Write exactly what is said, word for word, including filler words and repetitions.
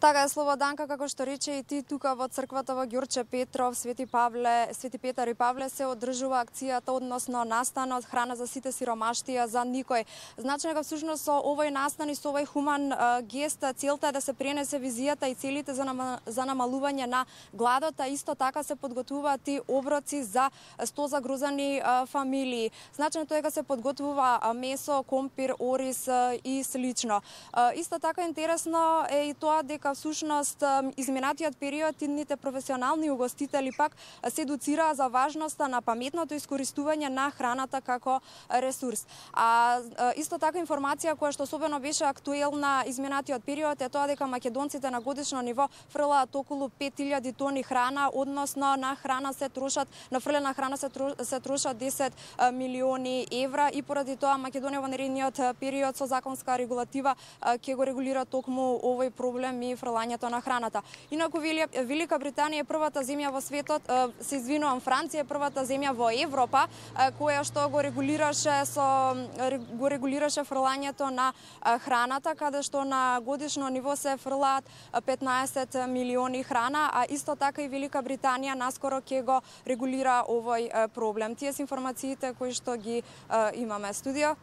Така е, Слободанка, како што рече и ти, тука во црквата во Ѓурче Петров, Свети Павле, Свети Петар и Павле се одржува акцијата односно настанот храна за сите, сиромаштија за никој. Значи дека всушност со овој настан и со овој хуман а, гест целта е да се пренесе визијата и целите за, нама, за намалување на гладот, а исто така се подготвуваат и оброци за сто загрузани а, фамилии. Значеното е дека се подготвува а, месо, компир, ориз а, и слично. А, исто така интересно е и тоа дека всушност изминатиот период идните професионални угостители пак се едуцираа за важноста на паметното искористување на храната како ресурс. А исто така информација која што особено беше актуелна изминатиот период е тоа дека македонците на годишно ниво фрлаат околу пет илјади тони храна, односно на храна се трошат, на фрлена храна се, тро, се трошат десет милиони евра и поради тоа Македонија во наредниот период со законска регулатива ќе го регулира токму овој проблем и фрлањето на храната. Инаку Велика Британија е првата земја во светот, се извинувам, Франција е првата земја во Европа која што го регулираше со го регулираше фрлањето на храната, каде што на годишно ниво се фрлаат петнаесет милиони храна, а исто така и Велика Британија наскоро ќе го регулира овој проблем. Тие се информациите кои што ги имаме. Студио.